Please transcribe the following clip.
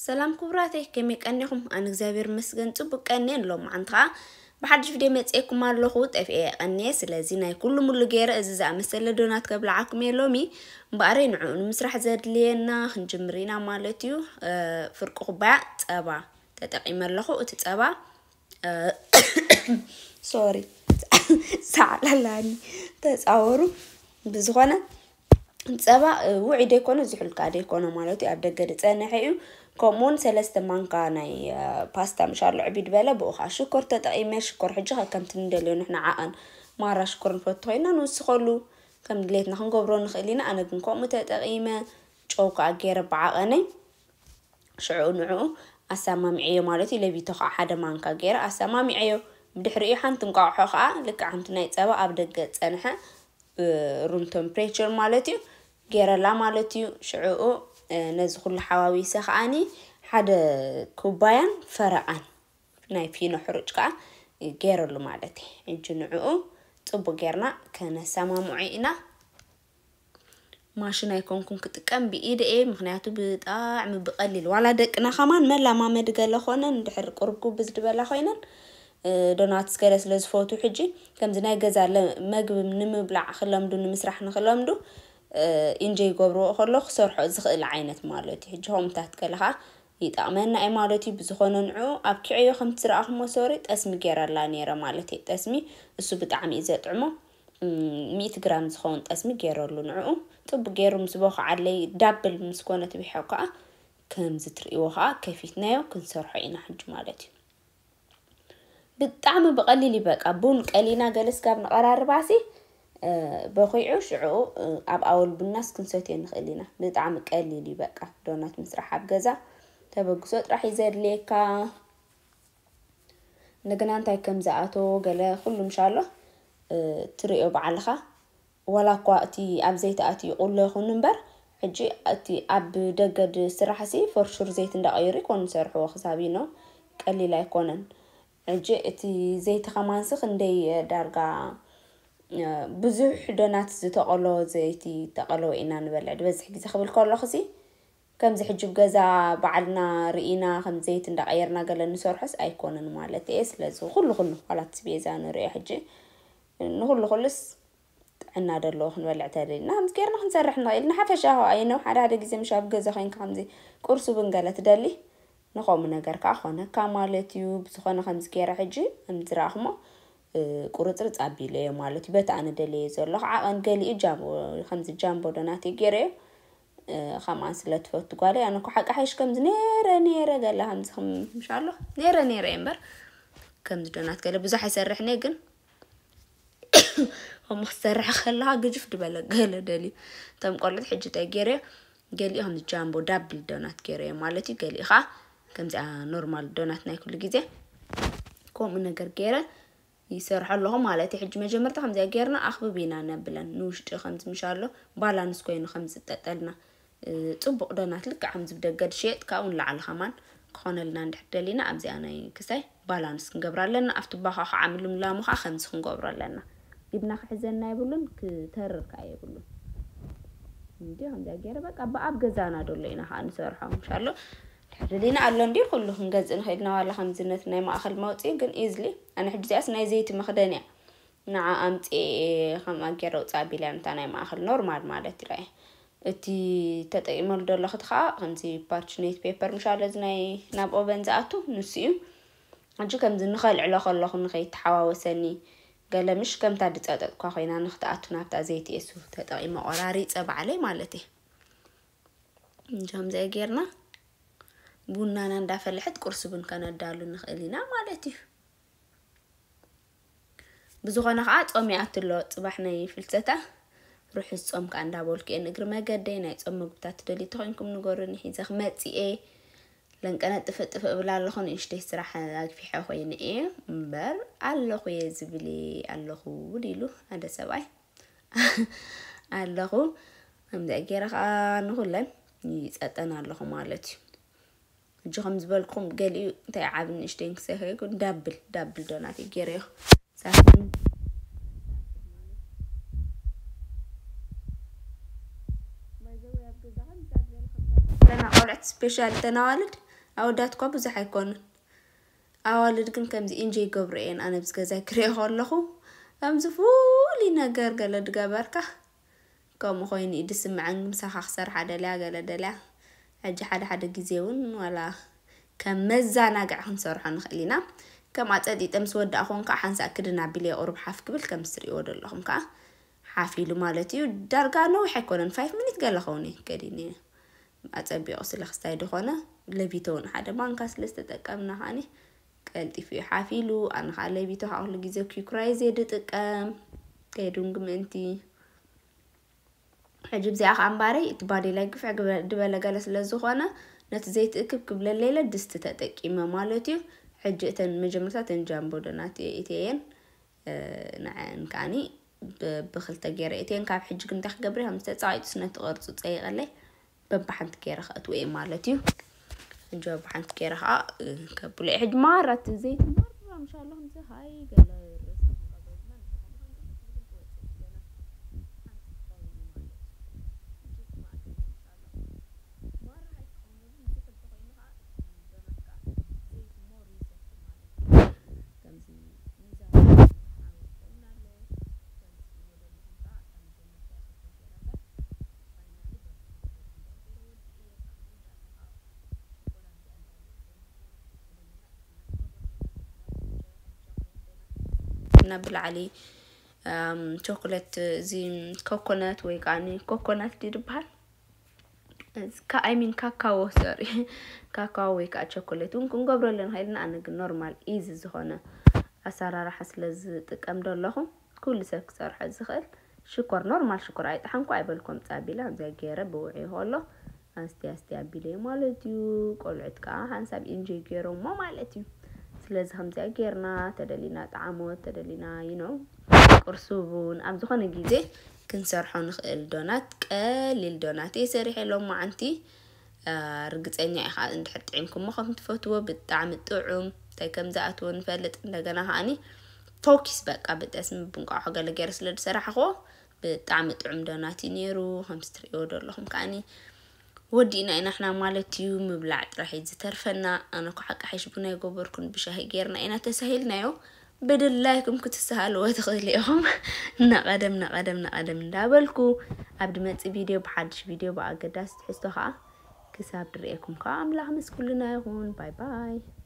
ሰላም ክቡራተይ፣ ከመይ ቀኒኹም? ኣነ እግዚኣብሔር ይመስገን ጽቡቅ ቀንየ። ሎማዓንቲ ኸኣ ብሓድሽ ቪድዮ መጽኤኩም ኣለኹ። ጠፍኤ ቀንየ፣ ስለዚ ናይ ኩሉ ሙሉ ገይረ እዚ ዝኣመሰለ ዶናት ከብልዓኩም እየ ሎሚ። እምበኣረይ ንዕኡ ንምስራሕ ዘድልየና ክንጅምር ኢና ማለት እዩ። እ፣ ፍርቂ ኩባያ ጸባ ተጠቂመ ኣለኹ። እቲ ጸባ፣ እ፣ ሶሪ፣ ሳዕላላኒ፣ ተጻወሩ። ብዝኾነ ጸባ፣ እ፣ ውዑይ ደይኮነ፣ ዝሑል ከኣ ደይኮነ ማለት እዩ። ኣብ ደገ ዝጸንሐ እዩ። ከምኡውን ሰለስተ ማንካ ናይ፣ እ፣ ፓስታ ምሻሎ ዕቢድ በለ፣ ብኡ ከኣ ሽኮር ተጠቒመ። ሽኮር ሕጂ ከከምቲ ንደልዮ ንሕና ዓቐን ማራ ሽኮር ንፈቱ ኮይና ንውስኸሉ፣ ከም ድሌትና ክንገብሮ ንኽእል ኢና። ኣነ ግን ከምኡ ተጠቒመ፣ ጨው ከኣ ገይረ ብዓቐነይ። ሽዑ ንዕኡ ኣሰማሚዐዮ ማለት እዩ። ለቢቶ ከኣ ሓደ ማንካ ገይረ ኣሰማሚዐዮ። ብድሕሪኡ ሓንቲ እንቋቑሖ ከኣ ልክዕ ከምቲ ናይ ጸባ ኣብ ደገ ዝጸንሐ፣ እ፣ ሩም ቴምፕሬቸር ማለት እዩ፣ ገይረላ ማለት እዩ። ሽዕኡ፣ እ፣ ነዚ ኩሉ ሓዋዊሰ ከኣኒ ሓደ ኩባያን ፈረቓን ናይ ፊኖ ሕሩጭ ከኣ ገይረሉ ማለት እዩ። ሕጂ ንዕኡ ጽቡቅ ጌርና ከነሰማምዖ ኢና። ማሽን ኣይኮንኩን ክጥቀም፣ ብኢደ እየ። ምኽንያቱ ብጣዕሚ ብቐሊል፣ ዋላ ደቅና ከማን መላማመዲ ገለ ኮነን፣ እንድሕር ቁሩብ ጉብዝ ዝበላ ኮይነን፣ እ፣ ዶናትስ ገለ ስለ ዝፈትዉ፣ ሕጂ ከምዚ ናይ ገዛ ለ-፣ መግቢ ንምብላዕ ክለምዱ፣ ንምስራሕ ንክለምዱ፣ እ፣ ኢንጆይ ይገብርዎ ከሎ ክሰርሖ ዝኽእል ዓይነት ማለት እዩ። ሕጂ ከምኡታት ገለ ኸዓ ይጠቕመና እዩ ማለት እዩ። ብዝኾነ ንዕኡ ኣብኪዐዮ ከምቲ ዝረኣኹሞ ሶሪ ጠስሚ ገይረላ ነይረ ማለት እዩ። ጠስሚ እሱ ብጣዕሚ እዩ ዘጥዕሞ። እም፣ ሚእቲ ግራም ዝኸውን ጠስሚ ገይረሉ። ንዕኡ ጽቡቅ ገይሩ ምስ ቦኸዓለይ ዳብል ምስ ኮነ ትብሖ ከኣ ከምዚ ትርእይዎ ከኣ ከፊትናዮ ክንሰርሖ ኢና ሕጂ ማለት እዩ። ብጣዕሚ ብቐሊል እዩ በቃ። ቡን ቀሊና ገለ ስጋብ ንቐራርባሲ፣ እ፣ በኺዑ ሽዕኡ፣ እ፣ ኣብ ኣወል ቡናስ ክንሰትዮ ንኽእል ኢና። ብጣዕሚ ቀሊል እዩ በቃ። ዶናት ምስራሕ ኣብ ገዛ ተበግሶ ጥራሕ እዩ ዘድልየካ። እንደገና እንታይ ከም ዝኣቶ ገለ ኩሉ ምሻሎ፣ እ፣ ትርእዮ ባዕልኻ። ዋላ እኳ እቲ ኣብ ዘይቲ ኣትዩ ቁሎ ይኹን እምበር፣ ሕጂ እቲ ኣብ ደገ ዝስራሕሲ ፎር ሹር ዘይቲ እንዳቐየሩ ይኮኑ ዝሰርሕዎ ክሳብ ይኖ፣ ቀሊል ኣይኮነን። ሕጂ እቲ ዘይቲ ከማንሲ ክንደይ ዳርጋ፣ እ፣ ብዙሕ ዶናት ዝተቐሎ ዘይቲ ተቐለወ ኢና ንበልዕ። ዝበዝሕ ግዜ ክብል ከለኹሲ ከምዚ ሕጂ ኣብ ገዛ ባዕልና ርኢና ከም ዘይቲ እንዳቐየርና ገለ ንሰርሖስ ኣይኮነን ማለት እየ። ስለዚ ኩሉ ኩሉ ዋላ እቲ ስቤዛ ንርእዮ ሕጂ ንኹሉ ኩሉስ ጥዕና ደለዎ ክንበልዕ ተደሊና ከምዚ ጌርና ክንሰርሕ ንኽእል። ንሓፈሻ ኸዓ እየ ነው ሓደ ሓደ ግዜ ምሽ ኣብ ገዛ ኮይንካ ከምዚ ቁርሲ እውን ገለ ትደሊ ንኸምኡ ነገር ከዓ ኾነካ ማለት እዩ። ብዝኾነ ከምዚ ገይረ ሕጂ ከምዚ ረኣኹሞ፣ እ፣ ቁርፅርፅ ኣቢለዮ ማለት እዩ። በቲ ኣነ ደለየ ዘለኹ ዓቐን ገሊኡ ጃምቦ፣ ከምዚ ጃምቦ ዶናት እዩ ገይረዮ። እ፣ ከምኣን ስለ ትፈቱ ጓለይ፣ ኣነ እኮ ሓቂ ሓይሽ ከምዚ ነይረ ነይረ ገለ ከምዚ ከም ምሻሎ ነይረ ነይረ እየ እምበር ከምዚ ዶናት ገለ ብዙሕ ኣይሰርሕን እየ፣ ግን ከምኡ ክሰርሕ ከለኻ ግጅፍ ዝበለ ገለ ደልዩ። እቶም ቆልዑት ሕጂ እንታይ ገይረዮ፣ ገሊኡ ከምዚ ጃምቦ ዳብል ዶናት ገይረዮ ማለት እዩ። ገሊኡ ኸዓ ከምዚኣ ኖርማል ዶናት ናይ ኩሉ ግዜ ከምኡ ነገር ገይረ ይሰርሖ ኣለኹ ማለት እዩ። ሕጂ መጀመርታ ከምዚኣ ጌርና ኣኽብብ ኢና ነብለን። ንውሽጢ ከምዚ ምሻሎ ባላንስ ኮይኑ ከምዚ ጠጠልና፣ እ፣ ጽቡቕ ዶናት ልክዕ ከምዚ ብደገ ዝሽየጥ ካብኡ ንላዕሊ ከማን ክኾነልና እንድሕር ደሊና ኣብዚኣ ናይ ክሳይ ባላንስ ክንገብራ ኣለና። ኣብቲ ባኻ ከዓ ምልምላሙ ከዓ ከምዚ ክንገብሮ ኣለና። ኢድና ክሕዘና የብሉን፣ ክተርር ከዓ የብሉን። እንዲ ከምዚኣ ገይረ በቃ ብኣብ ገዛና ደሎ ኢና ከዓ ንሰርሖ። ምሻሎ ድሕሪ ደሊና ኣሎ እንዲ ኩሉ ክንገዝእ ንኽእል ኢና፣ ዋላ ከምዚ ነቲ ናይ ማእኸል መውፅኢ ግን ኢዝሊ። ኣነ ሕጂ እዚኣስ ናይ ዘይቲ መኽደን እያ። ንዓ ኣምፅኤ ከምኣ ገይረ ውፃእ ኣቢለ እያ፣ ነታ ናይ ማእኸል ኖርማል ማለት እዩ። እቲ ተጠቂመሉ ዘለኹ እቲ ከዓ ከምዚ ፓርችኔት ፔፐር ምሻሎ፣ እዚ ናይ ናብ ኦቨን ዝኣቱ ንሱ እዩ። ሕጂ ከምዚ ንኸልዕሎ ከለኹ ንኸይተሓዋወሰኒ ገለ ምሽ ከምታ ድፀጠጥኳ ኮይና ንክትኣቱ ናብታ ዘይቲ እሱ ተጠቂመ ቆራሪፀ ባዕለይ ማለት እዩ። እንጂ ከምዚኣ ጌርና ቡናና እንዳፈለሐት ቁርሲ ቡን ከነዳሉ ንኽእል ኢና ማለት እዩ። ብዝኾነ ከዓ ጾም ይኣቱ ኣሎ፣ ጽባሕ ናይ ፍልሰታ ርሑስ ጾም ከዓ እንዳበልኩ እየ። ንእግሪ መገደይ ናይ ጾም ምግብታት ትደልዩ ተኾይንኩም ንገሩኒ፣ ሒዘ ክመጽእ እየ። ለንቀነ ጥፍእ ጥፍእ እብል ኣለኹ፣ ንእሽተይ ስራሕ ኣግፊሐ ኮይነ እየ እምበር ኣለኹ እየ ዝብል እየ ኣለኹ ድኢሉ ሓደ ሰብኣይ። ኣለኹ። ከምዚኣ ገይረ ከዓ ንኹለን ይጸጠን ኣለኹ ማለት እዩ። ሕጂ ከም ዝበልኩም ገሊኡ እንታይ ዓቢ ንእሽተይን ክሰይኸ ይኩን ዳብል፣ ዳብል ዶናት ገይረዮ። ሳሕን ለና ቆልዑት ስፔሻል ተናዋልድ ኣወዳት እኳ ብዙሕ ኣይኮኑን። ኣዋልድ ግን ከምዚ ኢንጆይ ይገብሩ እየን። ኣነ ብዚ ገዛይ ክሪኦ ከለኹ ከምዚ ፍሉይ ነገር ገለ ድገበርካ ከምኡ ኮይኑ እዩ ድስምዐን። ምሳኻ ክሰርሓ ደልያ ገለ ደልያ። ሕጂ ሓደ ሓደ ግዜ እውን ዋላ ከም መዘናግዒ ክንሰርሖ ንኽእል ኢና። ከም ኣጸጢጠ ምስ ወዳእኹን ከዓ ሓንሳእ ክድን ኣቢለ ቁሩብ ሓፍ ክብል ከም ትሪእዎ ዘለኹም ከዓ ሓፍ ኢሉ ማለት እዩ። ዳርጋ ነዊሕ ኣይኮነን፣ ፋይፍ ሚኒት ገለ ኸውን እየ ከዲነ። ኣጸቢቑ ስለ ክስታይ ድኾነ ለቢቶ እውን ሓደ ማንካ ስለ ዝተጠቀምና ከዓኒ ቀልጢፉ እዩ ሓፍ ኢሉ። ኣነ ከዓ ለቢቶ ከዓ ኩሉ ግዜ ኪኩራይዝ እየ ድጥቀም ከይዱንግ ምእንቲ። ሕጂ ብዚኣ ከዓ እምባረይ እቲ ባዴላይ ግፍዕ ግበ- ድበለ ገለ ስለ ዝኾነ ነቲ ዘይትእክብ ክብለለይለ ድስቲ ተጠቂመ ማለት እዩ። ሕጂ እተን መጀመርታ እተን ጃምቦ ዶናት እትየን ንዐን ከዓኒ ብ- ብክልተ ገይረ እትየን። ካብ ሕጂ ግን እንታይ ክገብር እየ? ከም ዝተፃቂጡ ስነቲ ቅርፁ ፀይቀለይ በብሓንቲ ገይረ ከእትዎ እየ ማለት እዩ። ሕጂ በብሓንቲ ገይረ ከዓ እ፣ ከብሎ እየ። ሕጂ ማራ እቲ ዘይቲ ማራ ምሻ ኣሎ ከምዚ ሃይ ገለ ርእስና ክንቀበልና ንስኹም ሃንቀት ክትብል ትወፅእ ገና ሓንቲ ትኸውን ማለት እዩ። እጅግ ማዕከል ምሻ ኣሎ ማራ ሃይ ክኸውን ብዙሕ እንተኾይኑ ከዓ ዶናት ከዓ ዘይቲ ሞር ይሰቲ ማለት እዩ። ከምዚ ሚዛን ዓወት ይኸውን ኣሎ። ከምዚ ትሪእዎ ዘለኹም ከዓ እታ መጀመርታ እየ ክልተ ሸረ እምበር ፋይናሊ በብሓንቲ ገይረ ወዲኤ እየ። ብጣዕሚ ዝወዳእካ ከዓ ሸኮላት እዚኣ እንዳለ እየ። እና ብላዕሊ ቸኮሌት እዚ ኮኮነት ወይ ከዓ ኮኮናት ድዩ ዝበሃል? ኣይሚን ካካዎ ሶሪ ካካዎ ወይ ከዓ ቸኮሌት እውን ክንገብረሉ ንኽእል ኢና። ኣነ ግን ኖርማል ኢዚ ዝኾነ ኣሰራርሓ ስለ ዝጥቀም ዶ ኣለኹ ኩሉ ሰብ ክሰርሖ ዝኽእል ሽኮር ኖርማል ሽኮር ኣይጠሓንኩ ኣይበልኩም ፃቢላ ከምዚኣ ገይረ ብውዒ ከሎ ኣስቲ ኣስቲ ኣቢለ ማለት እዩ። ቆልዑት ከዓ ሓንሳብ ኢንጆይ ገይሮሞ ማለት እዩ። ስለዚ ከምዚኣ ገይርና ተደሊና ጣዕሞት ተደሊና ይኖ ቁርሲ እውን ኣብ ዝኾነ ግዜ ክንሰርሖ ንኽእል ዶናት ቀሊል ዶናት እየ ሰሪሐ ሎማዓንቲ። ርግፀኛ ኢኻ እንድሕር ጥዒምኩሞ ከም ትፈትዎ ብጣዕሚ ጥዑም እንታይ ከም ዝኣትዎ ንፈልጥ። እንደገና ከዓኒ ቶኪስ በቃ ብጠስሚ ብንቋሖ ገለ ገይረ ስለ ዝሰራሕኽዎ ብጣዕሚ ጥዑም ዶናት እዩ ነይሩ። ከምዚ ትርእይዎ ዘለኹም ከዓኒ ወዲእና ኢና ሕና ማለት እዩ። ምብላዕ ጥራሕ እዩ ዝተርፈና። ኣነ እኮ ሓቂ ሓይሽ ቡና ኣይገበርኩን ብሻሂ ገይርና ኢና ተሳሂልናዮ። ብድላይኩም ክትሰሃልዎ ትኽእሉ ኢኹም። ነቐደም ነቐደም ነቐደም እንዳበልኩ ኣብ ድመፅእ ቪድዮ ብሓድሽ ቪድዮ ብኣገዳሲ ትሕዝቶ ከዓ ክሳብ ድርእየኩም ከዓ ኣምላኽ ምስ ኩልና ይኹን። ባይ ባይ።